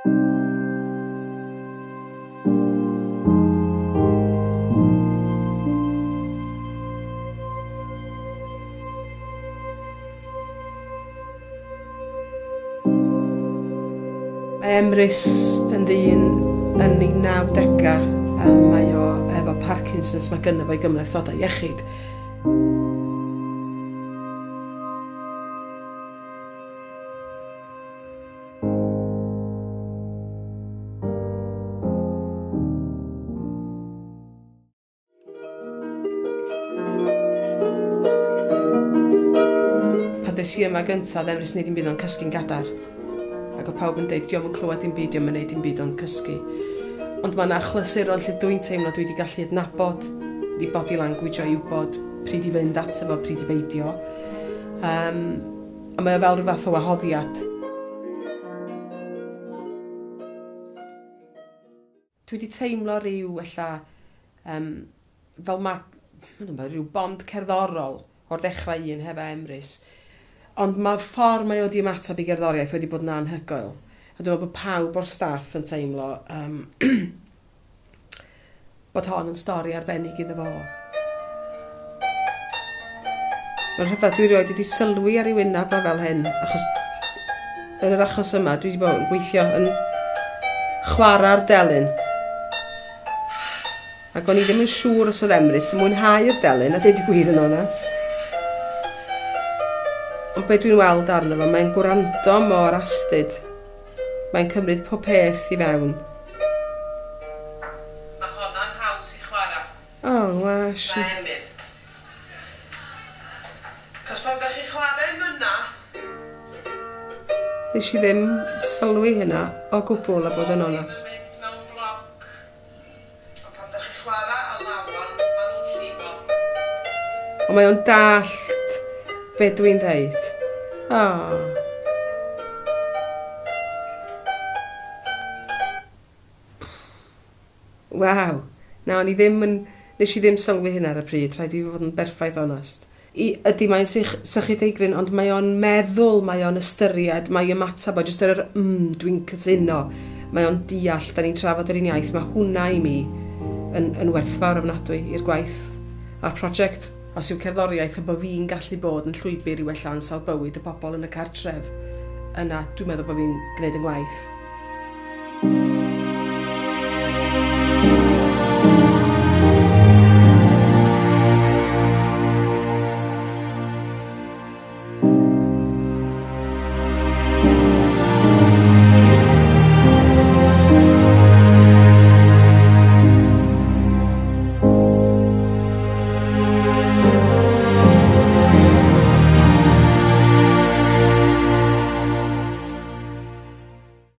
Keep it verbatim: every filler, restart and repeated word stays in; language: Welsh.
Mae Emrys yn ddyn yn ei nawdegau, mae o efo Parkinson's, mae gynno fo ei gymhlethdodau iechyd. Pan des i yma gyntaf, oedd Emrys yn neud dim byd ond cysgu'n gadar. Ac oedd pawb yn deud, dio'm yn clywed dim byd, dio'm yn neud dim byd ond cysgu. Ond mae yna achlysuron lle dwi'n teimlo dwi wedi gallu adnabod i body language o i wybod pryd i fynd ato fo, pryd i beidio. Um, a mae o fel rhyw fath o wahoddiad. Dwi wedi teimlo rhyw, ella, um, fel mae, rhyw bond cerddorol o'r dechrau un hefo Emrys. Ond mae'r ffordd mae o wedi ymateb i gerddoriaeth wedi bod yn anhygoel. A dwi'n meddwl bod pawb o'r staff yn teimlo um, bod hon yn stori arbennig iddo fo. Mae'n rhyfedd, dwi rioed wedi sylwi ar ei wyneb o fel hyn, achos yn yr achos yma dwi wedi bod yn gweithio yn chwarae'r delyn. Ac o'n i ddim yn siŵr os oedd Emrys yn mwynhau'r delyn, a deud y gwir yn onest. Ond be dwi'n weld arno fo, mae'n gwrando mor astud. Mae'n cymryd pob peth i fewn. Mae honna'n haws i chwarae. O, oh, wash. Mae Emyr. Cos pan ydych chi'n chwarae myna... Nes i ddim sylwi hynna o gwbl a bod yn onest. Mynd mewn bloc. Ond pan ydych chi'n chwarae alawon, maen nhw'n llifo. Ond mae o'n dallt be dwi'n dweud. Oh. Waw. Na, o'n i ddim yn... Nes i ddim sylwi hynna ar y pryd, rhaid i fi fod yn berffaith onest. I, ydy, mae'n sych, sychu deigryn, ond mae o'n meddwl, mae o'n ystyried, mae ymateb o jyst ar yr mm, dwi'n cytuno. Mae o'n deall, da ni'n trafod yr un iaith, mae hwnna i mi yn, yn werthfawr ofnadwy i'r gwaith a'r prosiect. Os yw cerddoriaeth a bod fi'n gallu bod yn llwybr i wella ansawdd bywyd y bobl yn y cartref, yna dwi'n meddwl bod fi'n gwneud yn gwaith.